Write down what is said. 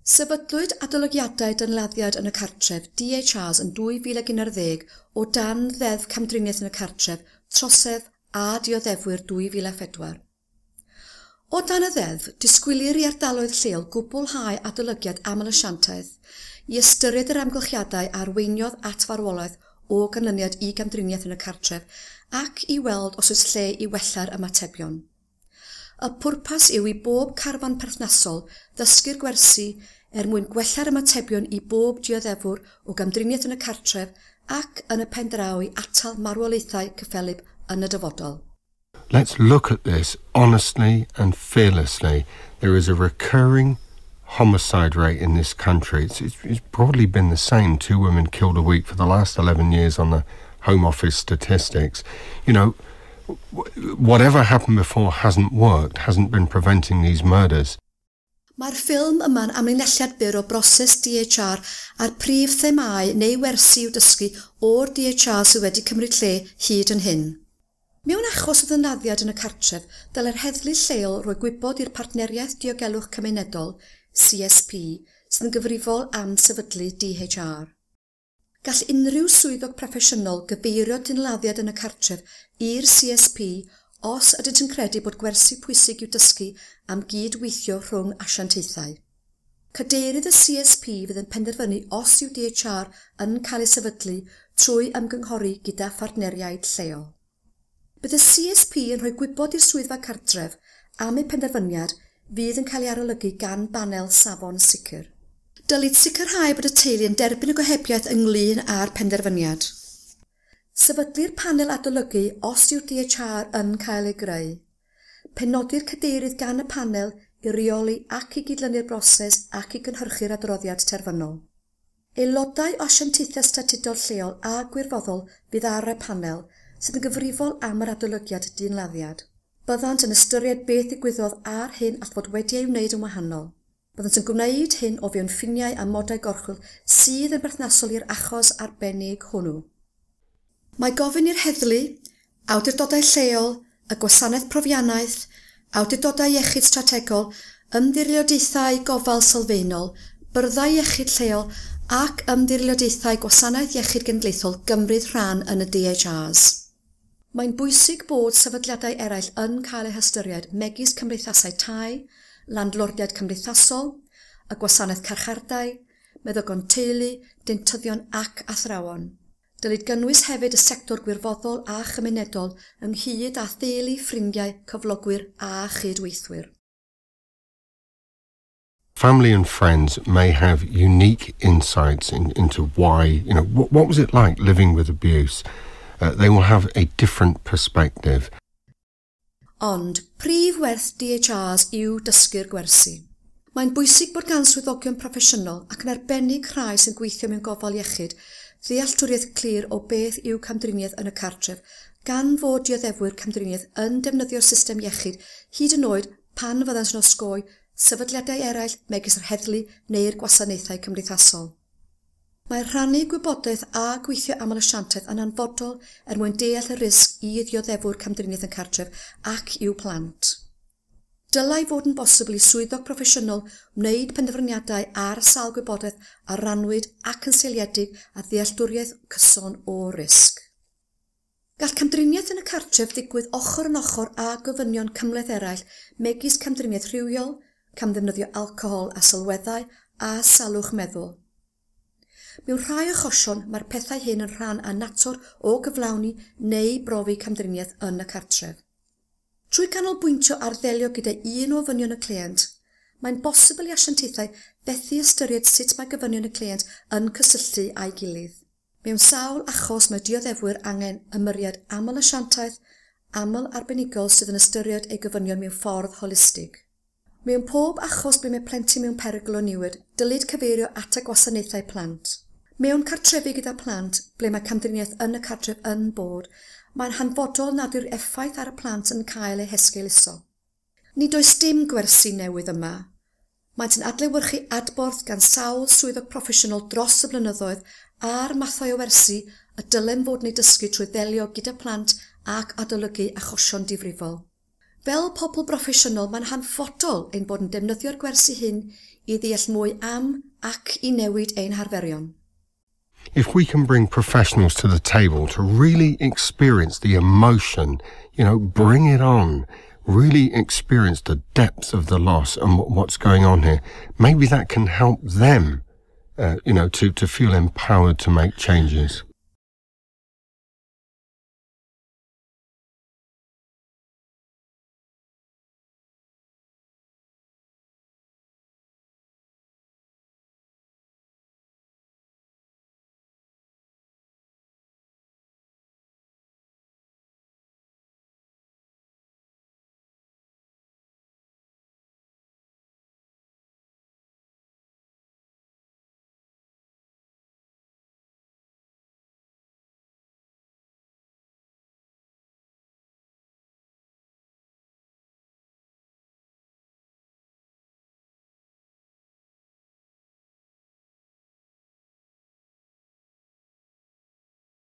Sefydlwyd adolygiadau dynladdiad yn y cartref DHRs yn 2011 o dan Ddeddf Camdriniaeth yn y Cartref, Trosedd a Dioddefwyr 2004. O dan y ddeddf, disgwylir i ardaloedd lleol gwblhau adolygiad aml-asiantaeth i ystyried yr amgylchiadau a arweiniodd at farwolaeth o ganlyniad i gamdriniaeth yn y cartref ac i weld os oes lle i wella'r ymatebion. Y pwrpas yw i bob carfan perthnasol ddysgu'r gwersi er mwyn gwella'r ymatebion i bob dioddefwr o gamdriniaeth yn y cartref ac yn y pen draw i atal marwolaethau cyffelyb yn y dyfodol. Let's look at this honestly and fearlessly. There is a recurring homicide rate in this country. It's broadly been the same, 2 women killed a week for the last 11 years on the Home Office statistics. Whatever happened before hasn't worked, hasn't been preventing these murders. Mae'r ffilm yma'n amlinelliad byr o broses DHR a'r prif themâu neu wersi i'w dysgu o'r DHR sydd wedi cymryd lle hyd yn hyn. Mewn achos o ddynladdiad yn y cartref, dylai'r heddlu lleol roi gwybod i'r Partneriaeth Diogelwch Cymunedol, CSP, sydd yn gyfrifol am sefydlu DHR. Gall unrhyw swyddog proffesiynol gyfeirio dynladdiad yn y cartref i'r CSP os ydynt yn credu bod gwersi pwysig i'w dysgu am gydweithio rhwng asiantaethau. Cadeirydd y CSP fydd yn penderfynu os yw DHR yn cael ei sefydlu trwy ymgynghori gyda phartneriaid lleol. Bydd y CSP yn rhoi gwybod i'r swyddfa cartref am eu penderfyniad fydd yn cael ei arolygu gan banel safon sicr. Dylid sicrhau bod y teulu yn derbyn y gohebiaeth ynglyn â'r penderfyniad. Sefydlu'r panel adolygu os yw'r DHR yn cael ei greu. Penodir cadeirydd gan y panel i reoli ac i gydlynu'r broses ac i gynhyrchu'r adroddiad terfynol. Aelodau o asiantaethau statudol lleol a gwirfoddol fydd ar y panel sydd yn gyfrifol am yr adolygiad dynladdiad. Byddant yn ystyried beth ddigwyddodd a'r hyn all fod wedi ei wneud yn wahanol. Byddant yn gwneud hyn o fewn ffiniau a modau gorchwyl sydd yn berthnasol i'r achos arbennig hwnnw. Mae gofyn i'r heddlu, awdurdodau lleol, y gwasanaeth profiannaeth, awdurdodau iechyd strategol, ymddiriedolaethau gofal sylfaenol, byrddau iechyd lleol ac ymddiriedolaethau gwasanaeth iechyd genedlaethol gymryd rhan yn y DHRs. Mae'n bwysig bod sefydliadau eraill yn cael eu hystyried megis cymdeithasau tai, landlordiaid cymdeithasol, y gwasanaeth carchardai, meddygon teulu, dentyddion ac athrawon. Dylid gynnwys hefyd y sector gwirfoddol a chymunedol ynghyd â theulu, ffrindiau, cyflogwyr a chydweithwyr. Family and friends may have unique insights into why, what was it like living with abuse? They will have a different perspective. Ond prif werth DHRs yw dysgu'r gwersi. Mae'n bwysig bod gan swyddogion proffesiynol ac yn arbennig rhai sy'n gweithio mewn gofal iechyd ddealltwriaeth clir o beth yw camdriniaeth yn y cartref, gan fod dioddefwyr camdriniaeth yn defnyddio'r system iechyd hyd yn oed pan fyddant yn osgoi sefydliadau eraill megis yr heddlu neu'r gwasanaethau cymdeithasol. Mae rhannu gwybodaeth a gweithio aml-asiantaeth yn hanfodol er mwyn deall y risg i ddioddefwyr camdriniaeth yn cartref ac i'w plant. Dylai fod yn bosibl i swyddog proffesiynol wneud penderfyniadau ar sail gwybodaeth a rannwyd ac yn seiliedig ar ddealltwriaeth cyson o risg. Gall camdriniaeth yn y cartref ddigwydd ochr yn ochr â gofynion cymhleth eraill megis camdriniaeth rhywiol, camddefnyddio alcohol a sylweddau a salwch meddwl. Mewn rhai achosion, mae'r pethau hyn yn rhan annatod o gyflawni neu brofi camdriniaeth yn y cartref. Trwy ganolbwyntio ar ddelio gyda un o ofynion y cleient, mae'n bosibl i asiantaethau fethu ystyried sut mae gofynion y cleient yn cysylltu â'i gilydd. Mewn sawl achos mae dioddefwyr angen ymyriad aml-asiantaeth, aml-arbenigol sydd yn ystyried eu gofynion mewn ffordd holistig. Mewn pob achos ble mae plentyn mewn perygl o niwed, dylid cyfeirio at y gwasanaethau plant. Mewn cartrefi gyda plant, ble mae camdriniaeth yn y cartref yn bod, mae'n hanfodol nad yw'r effaith ar y plant yn cael ei hesgeuluso. Nid oes dim gwersi newydd yma. Maent yn adlewyrchu adborth gan sawl swyddog proffesiynol dros y blynyddoedd a'r mathau o wersi y dylem fod yn eu dysgu trwy ddelio gyda plant ac adolygu achosion difrifol. Fel pobl broffesiynol, mae'n hanfodol ein bod yn defnyddio'r gwersi hyn i ddeall mwy am ac i newid ein harferion. If we can bring professionals to the table to really experience the emotion, bring it on, really experience the depth of the loss and what's going on here, maybe that can help them to feel empowered to make changes.